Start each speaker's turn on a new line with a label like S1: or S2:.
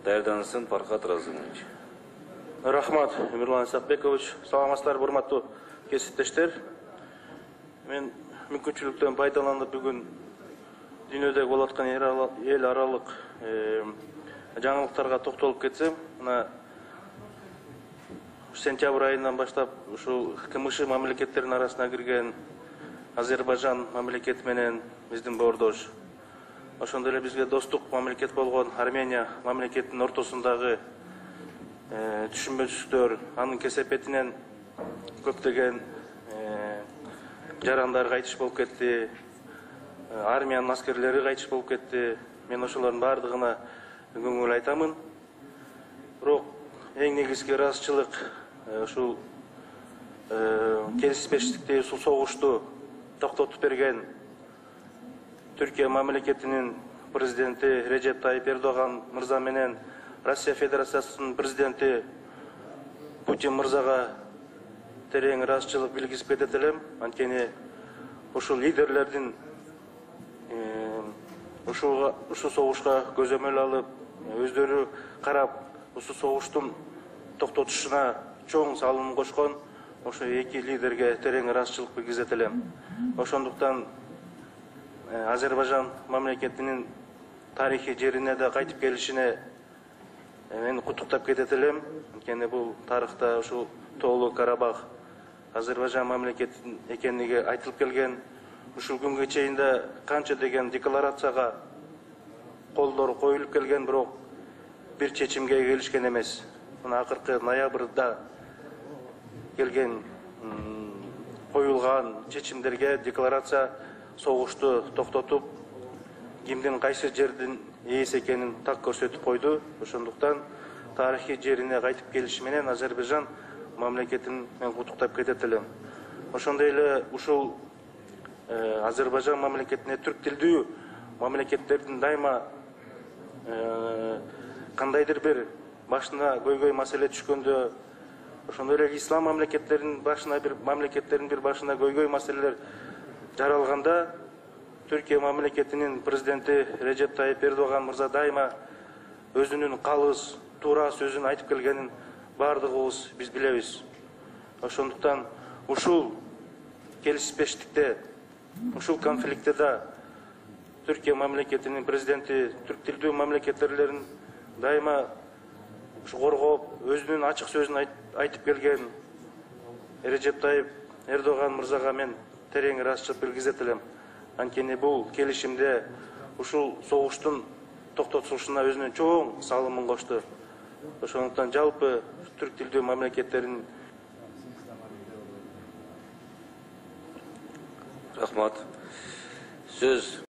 S1: даярданысын Фархат Разымович.
S2: Рахмат, Эмирлан Исакбекович. Саламатсыздарбы, урматтуу кесиптештер. Мен мүмкүнчүлүктөн пайдаланып бүгүн дүйнөдө болуп аткан эл аралык жаңылыктарга токтолуп кетсем, мына сентябрь айынан баштап ушул КМШ мамлекеттеринин арасына кирген Азербайжан мамлекети менен биздин боордош, ошондой эле бизге достук мамлекет болгон Армения мамлекетинин ортосундагы түшүнбөчүлүктөр, анын кесепетинен көптөгөн жарандар кайтыш болуп кетти, армиянын аскерлери кайтыш болуп кетти. Мен ошолордун баардыгына көңүл айтамын. Бирок эң негизги ыраазычылык ушул келишпештикти, ушул согушту токтотуп берген Түркия мамлекетинин президенти Режеп Тайип Эрдоган мырза менен Россия Федерациясынын президенти Путин мырзага терең ыраазычылык билгизип кетет элем. Анткени ушул лидерлердин ушул согушка көзөмөл алып, өздөрү карап, ушул согуштун токтотушуна чоң салым кошкон ошо эки лидерге терең ыраазычылык билгизет элем. Ошондуктан Азербайжан мамлекетинин тарыхый жерине да кайтып келишине мен куттуктап кетет элем. Анткени бул тарыхта ушул Тоолуу Карабах Азербайжан мамлекетинин экендиги айтылып келген. Ушул күнгө чейин да канча деген декларацияга колдор коюлуп келген, бирок бир чечимге келишкен эмес. Мына акыркы ноябрда келген коюлган чечимдерге декларация согушту токтотуп, кимдин кайсы жердин ээси экенин так көрсөтүп койду. Ошондуктан тарыхый жерине кайтып келиши менен Азербайжан мамлекетин мен куттуктап кетет элем. Ошондой эле ушул Азербайжан мамлекетине түрк тилдүү мамлекеттердин дайыма кандайдыр бир башына көйгөй маселе түшкөндө, ошондой эле ислам мамлекеттеринин бир башына көйгөй маселелер жаралганда, Түркия мамлекетинин президенти Режеп Тайип Эрдоган мырза дайыма өзүнүн калыс, туура сөзүн айтып келгенин баардыгыбыз биз билебиз. Ошондуктан ушул келишпештикте, ушул конфликтте да Түркия мамлекетинин президенти түрк тилдүү мамлекеттерлерин дайыма коргоп, өзүнүн ачык сөзүн айтып келген Режеп Тайип Эрдоган мырзага мен терең ыраазычылык билгизет элем. Анткени бул келишимде ушул согуштун токтотулушуна өзүнүн чоң салымын кошту. Ошондуктан жалпы түрк тилдүү мамлекеттерин
S1: Рахмат. Сөз